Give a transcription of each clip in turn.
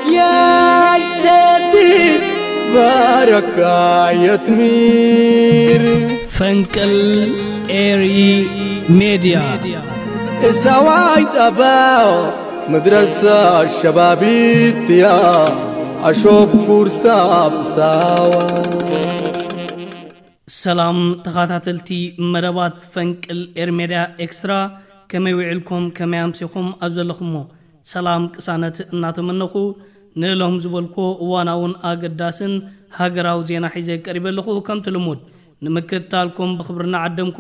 يا السديد بارك يا تمير. ፈንቅል ኤሪ ሜድያ። السواي تباو مدرسة شبابيتيا أشوف كورسا بساوا. ሰላም ተኸታተልቲ መደባት ፈንቅል ኤርሜድያ ኤክስትራ፣ ከመይ ውዒልኩም? ከመይ ኣምሲኹም? ኣብ ዘለኹሞ ሰላም ቅሳነት እናተመነኹ፣ ንሎም ዝበልኩዎ እዋናውን ኣገዳስን ሃገራዊ ዜና ሒዘ ቀሪበ ኣለኹ። ከምቲ ልሙድ ንምክትታልኩም ብኽብሪ እናዓደምኩ፣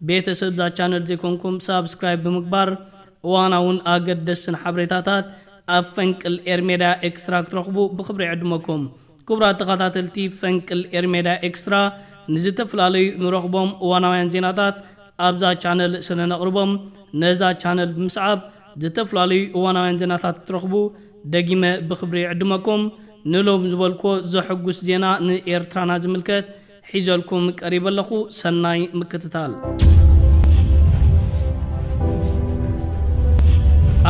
ቤተሰብ እዛ ቻነል ዘይኮንኩም ሳብስክራይብ ብምግባር እዋናውን ኣገደስትን ሓበሬታታት ኣብ ፈንቅል ኤርሜድያ ኤክስትራ ክትረኽቡ ብኽብሪ ይዕድመኩም። ክቡራት ተኸታተልቲ ፈንቅል ኤርሜድያ ኤክስትራ፣ ንዝተፈላለዩ ንረኽቦም እዋናውያን ዜናታት ኣብዛ ቻነል ስለ ነቕርቦም፣ ነዛ ቻነል ብምስዓብ ዝተፈላለዩ እዋናውያን ዜናታት ክትረኽቡ ደጊመ ብኽብሪ ይዕድመኩም። ንሎም ዝበልኩዎ ዘሐጉስ ዜና ንኤርትራና ዝምልከት ሒዘልኩም ቀሪበ ኣለኹ። ሰናይ ምክትታል።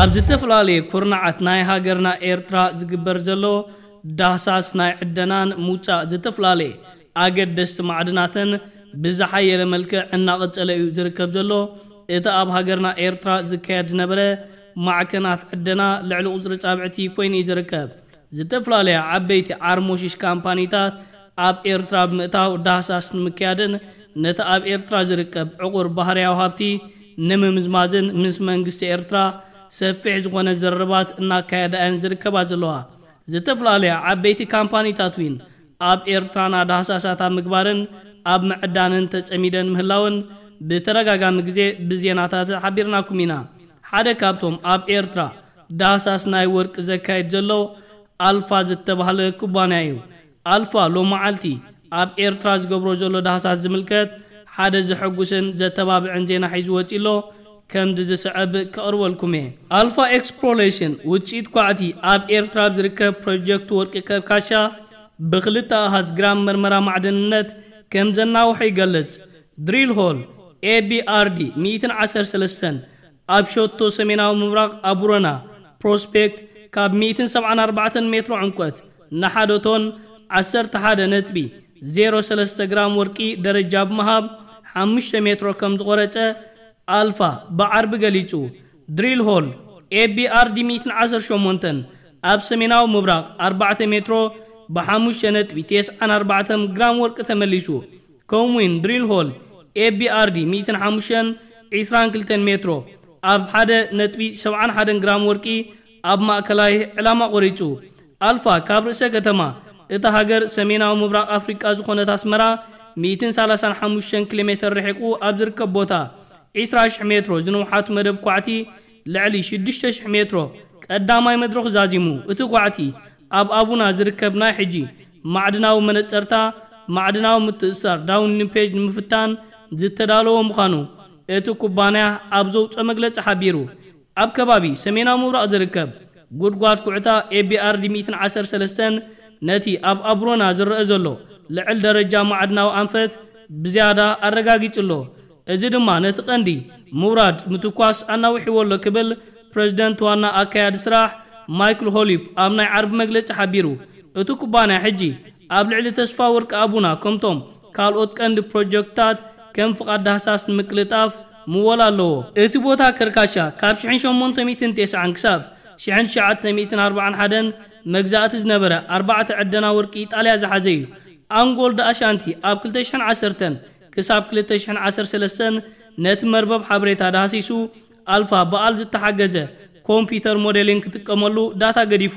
ኣብ ዝተፈላለየ ኩርናዓት ናይ ሃገርና ኤርትራ ዝግበር ዘሎ ዳህሳስ ናይ ዕደናን ምውጻእ ዝተፈላለየ ኣገደስቲ ማዕድናትን ብዝሓየለ መልክዕ እናቐጸለ እዩ ዝርከብ ዘሎ። እቲ ኣብ ሃገርና ኤርትራ ዝካየድ ዝነበረ ማዕከናት ዕደና ልዕሊ ቁጽሪ ጻብዕቲ ኮይኑ እዩ ዝርከብ። ዝተፈላለያ ዓበይቲ ዓርሞሽሽ ካምፓኒታት ኣብ ኤርትራ ብምእታው ዳህሳስ ንምክያድን ነቲ ኣብ ኤርትራ ዝርከብ ዕቑር ባህርያዊ ሃብቲ ንምምዝማዝን ምስ መንግስቲ ኤርትራ ሰፊሕ ዝኾነ ዘረባት እናካየዳ እየን ዝርከባ ዘለዋ። ዝተፈላለያ ዓበይቲ ካምፓኒታት እውን ኣብ ኤርትራና ዳህሳሳት ኣብ ምግባርን ኣብ ምዕዳንን ተጸሚደን ምህላውን ብተደጋጋሚ ግዜ ብዜናታት ሓቢርናኩም ኢና። ሓደ ካብቶም ኣብ ኤርትራ ዳህሳስ ናይ ወርቂ ዘካይድ ዘሎ ኣልፋ ዝተባህለ ኩባንያ እዩ። ኣልፋ ሎመዓልቲ ኣብ ኤርትራ ዝገብሮ ዘሎ ዳህሳስ ዝምልከት ሓደ ዘሐጉስን ዘተባብዕን ዜና ሒዙ ወጺኡ ኣሎ። ከምዚ ዝስዕብ ከቕርበልኩም እየ። ኣልፋ ኤክስፕሎሬሽን ውጽኢት ኳዕቲ ኣብ ኤርትራ ኣብ ዝርከብ ፕሮጀክት ወርቂ ከርካሻ ብክልተ ኣሃዝ ግራም መርመራ ማዕድንነት ከም ዘናውሐ ይገልጽ። ድሪል ሆል ኤ ቢ ኣር ዲ ሚእትን ዓሰርተ ሰለስተን ኣብ ሸቶ ሰሜናዊ ምብራቕ ኣቡረና ፕሮስፔክት ካብ ሚእትን ሰብዓን ኣርባዕተን ሜትሮ ዕምቆት ንሓደ ቶን ዓሰርተ ሓደ ነጥቢ ዜሮ ሰለስተ ግራም ወርቂ ደረጃ ብምሃብ ሓሙሽተ ሜትሮ ከም ዝቖረጸ ኣልፋ ብዓርቢ ገሊጹ። ድሪል ሆል ኤ ቢ ኣር ዲ ሚእትን ዓሰርተ ሸሞንተን ኣብ ሰሜናዊ ምብራቕ ኣርባዕተ ሜትሮ ብሓሙሽተ ነጥቢ ተስዓን ኣርባዕተን ግራም ወርቂ ተመሊሱ። ከምኡውን ድሪል ሆል ኤ ቢ ኣር ዲ ሚእትን ሓሙሽተን ዒስራን ክልተን ሜትሮ ኣብ ሓደ ነጥቢ ሰብዓን ሓደን ግራም ወርቂ ኣብ ማእከላይ ዕላማ ቆሪጹ። ኣልፋ ካብ ርእሰ ከተማ እታ ሃገር ሰሜናዊ ምብራቕ ኣፍሪቃ ዝኾነት ኣስመራ ሚእትን ሰላሳን ሓሙሽተን ኪሎ ሜተር ርሒቑ ኣብ ዝርከብ ቦታ ዒስራ ሽሕ ሜትሮ ዝንውሓቱ መደብ ኳዕቲ ልዕሊ ሽዱሽተ ሽሕ ሜትሮ ቀዳማይ መድረኹ ዛዚሙ። እቲ ኳዕቲ ኣብ ኣቡና ዝርከብ ናይ ሕጂ ማዕድናዊ መነጸርታ ማዕድናዊ ምትእስሳር ዳውን ሊምፔጅ ንምፍታን ዝተዳለወ ምዃኑ እቲ ኩባንያ ኣብ ዘውጽኦ መግለጺ ሓቢሩ። ኣብ ከባቢ ሰሜናዊ ምብራቕ ዝርከብ ጉድጓድ ኩዕታ ኤ ቢ ኣር ዲ ሚእትን ዓሰርተ ሰለስተን ነቲ ኣብ ኣቡሮና ዝረአ ዘሎ ልዕል ደረጃ ማዕድናዊ ኣንፈት ብዝያዳ ኣረጋጊጹ ኣሎ። እዚ ድማ ነቲ ቀንዲ ምውራድ ምትኳስ ኣናዊሕዎ ኣሎ ክብል ፕረዚደንት ዋና ኣካያዲ ስራሕ ማይክል ሆሊፕ ኣብ ናይ ዓርቢ መግለጺ ሓቢሩ። እቲ ኩባንያ ሕጂ ኣብ ልዕሊ ተስፋ ወርቂ ኣቡና ከምቶም ካልኦት ቀንዲ ፕሮጀክትታት ከም ፍቓድ ዳህሳስ ንምቅልጣፍ ምወላ ኣለዎ። እቲ ቦታ ከርካሻ ካብ ሽሕን ሸሞንተ ሚእትን ተስዓን ክሳብ ሽሕን ትሽዓተ ሚእትን ኣርባዓን ሓደን መግዛእቲ ዝነበረ ኣርባዕተ ዕደና ወርቂ ኢጣልያ ዝሓዘ እዩ። ኣንጎል ዳኣሻንቲ ኣብ ክልተ ሽሕን ዓሰርተን ክሳብ ክልተ ሽሕን ዓሰርተ ሰለስተን ነቲ መርበብ ሓበሬታ ዳህሲሱ ኣልፋ በኣል ዝተሓገዘ ኮምፒተር ሞዴሊንግ ክጥቀመሉ ዳታ ገዲፉ።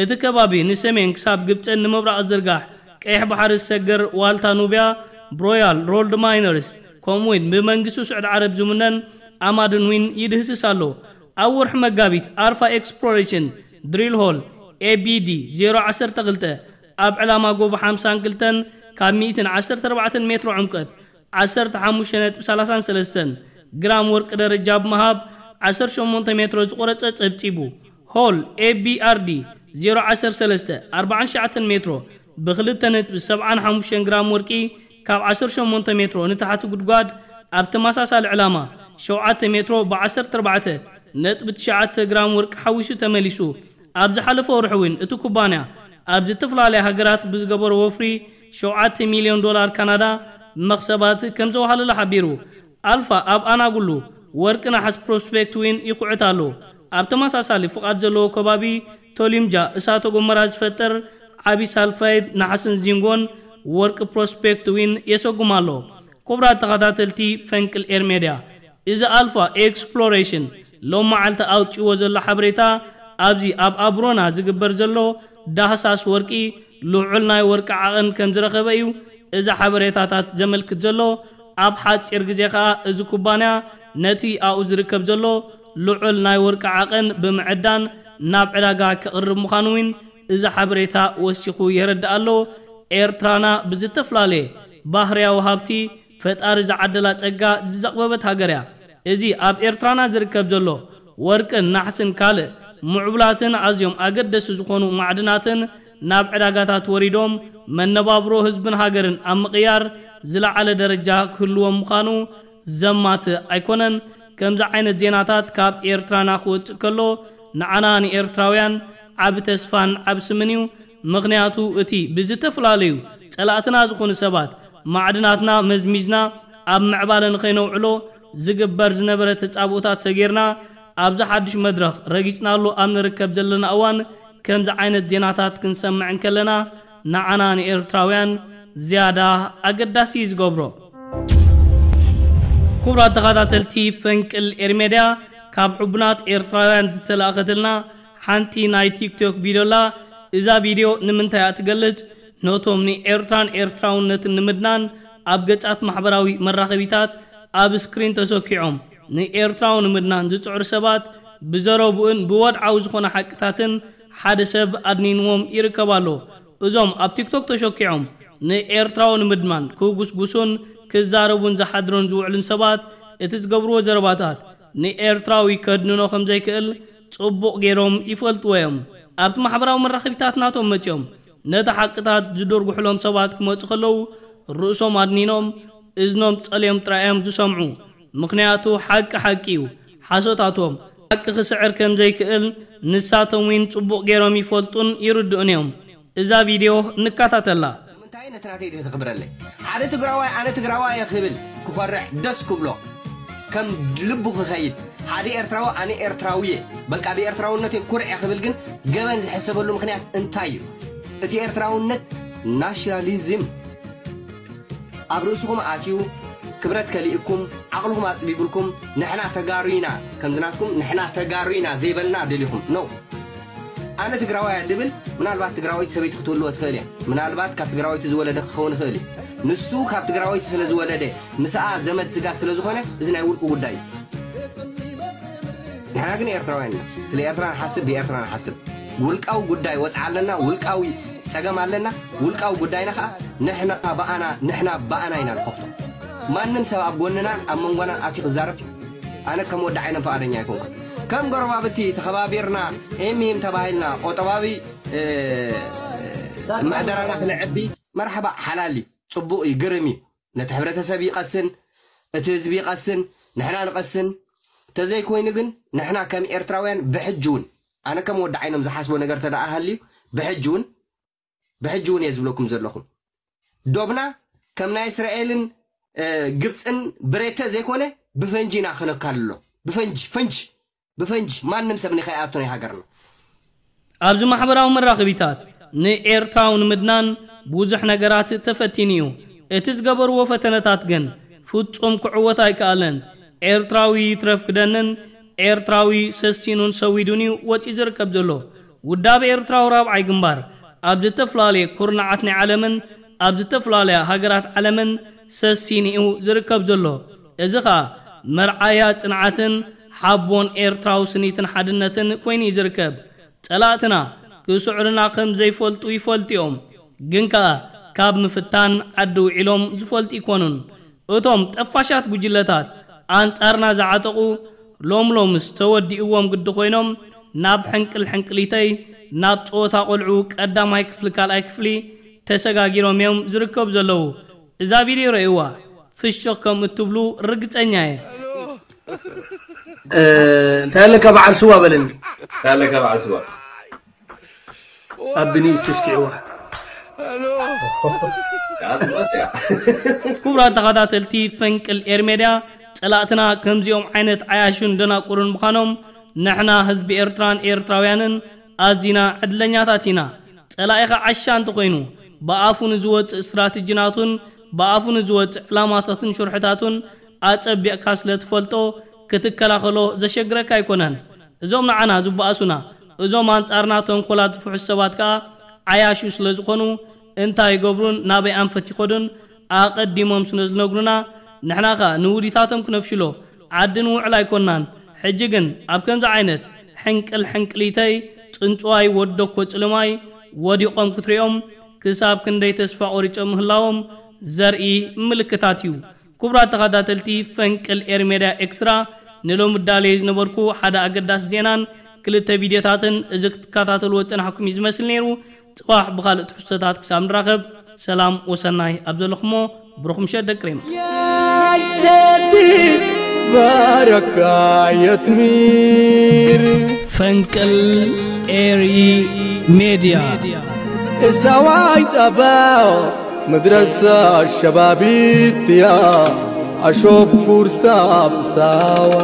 እቲ ከባቢ ንሰሜን ክሳብ ግብጽን ንምብራቕ ዝርጋሕ ቀይሕ ባሕሪ ዝሰግር ዋልታ ኑብያ ብሮያል ሮልድ ማይነርስ ከምኡውን ብመንግስቱ ስዑድ ዓረብ ዝምነን ኣማድን ዊን ይድህስስ ኣሎ። ኣብ ወርሒ መጋቢት ኣርፋ ኤክስፕሎሬሽን ድሪል ሆል ኤ ቢ ዲ ዜሮ ዓሰርተ ክልተ ኣብ ዕላማ ጎቦ ሓምሳን ክልተን ካብ ሚእትን ዓሰርተ ኣርባዕተን ሜትሮ ዕምቀት ዓሰርተ ሓሙሽተ ነጥቢ ሰላሳን ሰለስተን ግራም ወርቂ ደረጃ ብምሃብ ዓሰርተ ሸሞንተ ሜትሮ ዝቆረጸ ጸብጺቡ። ሆል ኤ ቢ ኣር ዲ ዜሮ ዓሰርተ ሰለስተ ኣርባዓን ትሽዓተን ሜትሮ ብክልተ ነጥቢ ሰብዓን ሓሙሽተን ግራም ወርቂ ካብ ዓሰርተ ሸሞንተ ሜትሮ ንታሕቲ ጉድጓድ ኣብ ተመሳሳሊ ዕላማ ሸውዓተ ሜትሮ ብዓሰርተ ኣርባዕተ ነጥቢ ትሽዓተ ግራም ወርቂ ሓዊሱ ተመሊሱ። ኣብ ዝሓለፈ ወርሒ እውን እቲ ኩባንያ ኣብ ዝተፈላለያ ሃገራት ብዝገበሮ ወፍሪ ሸውዓተ ሚልዮን ዶላር ካናዳ መኽሰባት ከም ዘውሃለለ ሓቢሩ። ኣልፋ ኣብ ኣናጉሉ ወርቂ ነሓስ ፕሮስፔክት እውን ይኹዕት ኣሎ። ኣብ ተመሳሳሊ ፍቓድ ዘለዎ ከባቢ ቶሊምጃ እሳተ ጎመራ ዝፈጥር ዓቢ ሳልፋይድ ነሓስን ዚንጎን ወርቂ ፕሮስፔክት እውን የሰጉም ኣሎ። ክቡራት ተኸታተልቲ ፈንቅል ኤር ሜድያ፣ እዚ ኣልፋ ኤክስፕሎሬሽን ሎም መዓልቲ ኣውፅዎ ዘሎ ሓበሬታ ኣብዚ ኣብ ኣብሮና ዝግበር ዘሎ ዳህሳስ ወርቂ ልዑል ናይ ወርቂ ዓቐን ከም ዝረኸበ እዩ እዚ ሓበሬታታት ዘመልክት ዘሎ። ኣብ ሓፂር ግዜ ከዓ እዚ ኩባንያ ነቲ ኣብኡ ዝርከብ ዘሎ ልዑል ናይ ወርቂ ዓቐን ብምዕዳን ናብ ዕዳጋ ከቕርብ ምዃኑ እውን እዚ ሓበሬታ ወሲኹ የረድእ ኣሎ። ኤርትራና ብዝተፈላለየ ባህርያዊ ሃብቲ ፈጣሪ ዝዓደላ ጸጋ ዝዘቕበበት ሃገር እያ። እዚ ኣብ ኤርትራና ዝርከብ ዘሎ ወርቅን ናሕስን ካልእ ምዕቡላትን ኣዝዮም ኣገደስቲ ዝኾኑ ማዕድናትን ናብ ዕዳጋታት ወሪዶም መነባብሮ ህዝብን ሃገርን ኣብ ምቕያር ዝለዓለ ደረጃ ክህልዎም ምዃኑ ዘማትእ ኣይኮነን። ከምዚ ዓይነት ዜናታት ካብ ኤርትራና ክወጽእ ከሎ ንዓና ንኤርትራውያን ዓቢ ተስፋን ዓቢ ስምን እዩ። ምኽንያቱ እቲ ብዝተፈላለዩ ጸላእትና ዝኾኑ ሰባት ማዕድናትና መዝሚዝና ኣብ ምዕባለ ንኸይነውዕሎ ዝግበር ዝነበረ ተጻብኦታት ሰጊርና ኣብዚ ሓድሽ መድረኽ ረጊጽናሉ ኣብ ንርከብ ዘለና እዋን ከምዚ ዓይነት ዜናታት ክንሰምዕ እንከለና ንዓና ንኤርትራውያን ዝያዳ ኣገዳሲ እዩ ዝገብሮ። ክቡራት ተኸታተልቲ ፈንቅል ኤርሜድያ፣ ካብ ሕቡናት ኤርትራውያን ዝተላእኸትልና ሓንቲ ናይ ቲክቶክ ቪድዮ ኣላ። እዛ ቪድዮ ንምንታይ እያ ትገልጽ? ነቶም ንኤርትራን ኤርትራውነትን ንምድናን ኣብ ገጻት ማሕበራዊ መራኸቢታት ኣብ ስክሪን ተሰኪዖም ንኤርትራዊ ንምድናን ዝጽዕሩ ሰባት ብዘረብኡን ብወድዓዊ ዝኾነ ሓቅታትን ሓደ ሰብ ኣድኒንዎም ይርከብ ኣሎ። እዞም ኣብ ቲክቶክ ተሸኪዖም ንኤርትራዊ ንምድማን ክጉስጉሱን ክዛረቡን ዝሓድሩን ዝውዕሉን ሰባት እቲ ዝገብርዎ ዘረባታት ንኤርትራዊ ከድንኖ ከም ዘይክእል ጽቡቕ ገይሮም ይፈልጥዎ እዮም። ኣብቲ ማሕበራዊ መራኸቢታት ናቶም መጺኦም ነቲ ሓቅታት ዝድርጉሕሎም ሰባት ክመጹ ከለዉ ርእሶም ኣድኒኖም እዝኖም ጸልዮም ጥራይ እዮም ዝሰምዑ። ምኽንያቱ ሓቂ ሓቂ እዩ። ሓሶታቶም ሓቂ ክስዕር ከም ዘይክእል ንሳቶም እውን ጽቡቕ ገይሮም ይፈልጡን ይርድኡን እዮም። እዛ ቪድዮ ንከታተላ። ንምንታይ ነቲ ናተይ ድን ክኽብረለይ? ሓደ ትግራዋይ ኣነ ትግራዋይ እየ ክብል ክኾርዕ ደስ ክብሎ፣ ከም ልቡ ክኸይድ፣ ሓደ ኤርትራዊ ኣነ ኤርትራዊ እየ፣ በቃ ብኤርትራውነተይ ኩርዕ እየ ክብል ግን ገበን ዝሕሰበሉ ምኽንያት እንታይ እዩ? እቲ ኤርትራውነት ናሽናሊዝም ኣብ ርእስኹም ኣትዩ ክብረት ከሊእኩም ዓቕልኹም ኣጽቢብልኩም ንሕና ተጋሩ ኢና ከምዚ ናትኩም ንሕና ተጋሩ ኢና ዘይበልና ደሊኹም ኖ። ኣነ ትግራዋይ እየ ድብል ምናልባት ትግራወይቲ ሰበይቲ ክትህልዎ ትኽእል እያ። ምናልባት ካብ ትግራወይቲ ዝወለደ ክኸውን ይኽእል እዩ። ንሱ ካብ ትግራወይቲ ስለ ዝወለደ ምስኣ ዘመድ ስጋ ስለ ዝኾነ እዚ ናይ ውልቁ ጉዳይ እዩ። ንሕና ግን ኤርትራውያን ኢና። ስለ ኤርትራ ንሓስብ፣ ብኤርትራ ንሓስብ። ውልቃዊ ጉዳይ ወጽዓ ኣለና፣ ውልቃዊ ጸገም ኣለና። ውልቃዊ ጉዳይና ከኣ ንሕና ብኣና ንሕና ብኣና ኢና ንኸፍቶ። ማንም ሰብ ኣብ ጎንናን ኣብ መንጎናን ኣትዩ ክዛረብ ኣነ ከም ወዲ ዓይነም ፍቓደኛ ኣይኮንኩን። ከም ጎረባብቲ ተኸባቢርና ኤምሂም ተባሂልና ቆጠባዊ ምሕደራና ክነዕቢ መርሓባ ሓላል እዩ፣ ጽቡቕ እዩ፣ ግርም እዩ። ነቲ ሕብረተሰብ ይቐስን፣ እቲ ህዝቢ ይቐስን፣ ንሕና ንቐስን። ተዘይኮይኑ ግን ንሕና ከም ኤርትራውያን ብሕጂ እውን ኣነ ከም ወዲ ዓይኖም ዝሓስቦ ነገር ተደኣ ሃልዩ ብሕጂ እውን ብሕጂ እውን እየ ዝብለኩም ዘለኹም ዶብና ከም ናይ እስራኤልን ግብፅን ብሬተ ዘይኮነ ብፈንጂ ኢና ክነካልሎ። ብፈንጂ ፈንጂ ብፈንጂ ማንም ሰብ ንኸይኣቱ ናይ ሃገርና። ኣብዚ ማሕበራዊ መራኸቢታት ንኤርትራዊ ንምድናን ብዙሕ ነገራት ተፈቲኑ እዩ። እቲ ዝገበርዎ ፈተነታት ግን ፍጹም ክዕወት ኣይከኣለን። ኤርትራዊ ይትረፍ ክደንን ኤርትራዊ ሰሲኑን ሰዊዱን እዩ ወጺኡ ዝርከብ ዘሎ። ውዳብ ኤርትራዊ ራብዓይ ግንባር ኣብ ዝተፈላለየ ኩርናዓት ናይ ዓለምን ኣብ ዝተፈላለያ ሃገራት ዓለምን ሰሲኑ እዩ ዝርከብ ዘሎ። እዚ ኸኣ መርዓያ ጽንዓትን ሓቦን ኤርትራዊ ስኒትን ሓድነትን ኮይኑ እዩ ዝርከብ። ጸላእትና ክስዕሩና ከም ዘይፈልጡ ይፈልጡ እዮም። ግን ከኣ ካብ ምፍታን ዓዲ ውዒሎም ዝፈልጡ ይኮኑን። እቶም ጠፋሻት ጉጅለታት ኣንጻርና ዝዓጠቑ ሎም ሎምስ ተወዲእዎም ግዲ ኮይኖም ናብ ሕንቅል ሕንቅሊተይ ናብ ጸወታ ቆልዑ ቀዳማይ ክፍሊ ካልኣይ ክፍሊ ተሰጋጊሮም እዮም ዝርከቡ ዘለዉ። እዛ ቪድዮ ረእይዋ ፍሽኽ ከም እትብሉ ርግጸኛ እየ። እንታይ ኣለካ በዓል ስዋ በለኒ። እንታይ ኣለካ በዓል ስዋ? ኣብ ብንእስ ተሽኪዕዋ። ክቡራት ተኸታተልቲ ፈንቅል ኤር ሜድያ፣ ጸላእትና ከምዚኦም ዓይነት ዓያሹን ደናቁርን ምዃኖም ንሕና ህዝቢ ኤርትራን ኤርትራውያንን ኣዚና ዕድለኛታት ኢና። ጸላኢኻ ዓሻ እንተኾይኑ ብኣፉ ንዝወጽእ ስትራቴጂናቱን ብኣፉ ንዝወጽእ ዕላማታትን ሽርሕታቱን ኣጸቢቕካ ስለ ትፈልጦ ክትከላኸሎ ዘሸግረካ ኣይኮነን። እዞም ንዓና ዝበኣሱና፣ እዞም ኣንጻርና ተንኮላት ዝፍሕሱ ሰባት ከኣ ዓያሹ ስለ ዝኾኑ እንታይ ይገብሩን ናበይ ኣንፈት ይኸዱን ኣቐዲሞም ስለ ዝነግሩና ንሕና ከኣ ንውዲታቶም ክነፍሽሎ ዓዲ ንውዕል ኣይኮናን። ሕጂ ግን ኣብ ከምዚ ዓይነት ሕንቅል ሕንቅሊተይ ጽንጽዋይ ወደኮ ጽልማይ ወዲቖም ክትሪኦም ክሳብ ክንደይ ተስፋ ቆሪጾም ምህላዎም ዘርኢ ምልክታት እዩ። ክቡራት ተኸታተልቲ ፈንቅል ኤር ሜድያ ኤክስትራ ንሎሚ ዳለየ ዝነበርኩ ሓደ ኣገዳሲ ዜናን ክልተ ቪድዮታትን እዚ ክትከታተልዎ ዝጸናሕኩም እዩ ዝመስል ነይሩ። ጽባሕ ብኻልእ ትሕዝቶታት ክሳብ ንራኸብ ሰላም ወሰናይ ኣብ ዘለኹሞ ብሩኽ ምሸት ደቂ ሬማ። يا ستي بارك يا تمير ፈንቅል ኤሪ ሜድያ السواي تباو مدرسة الشبابيت يا أشوف كورسا بساوة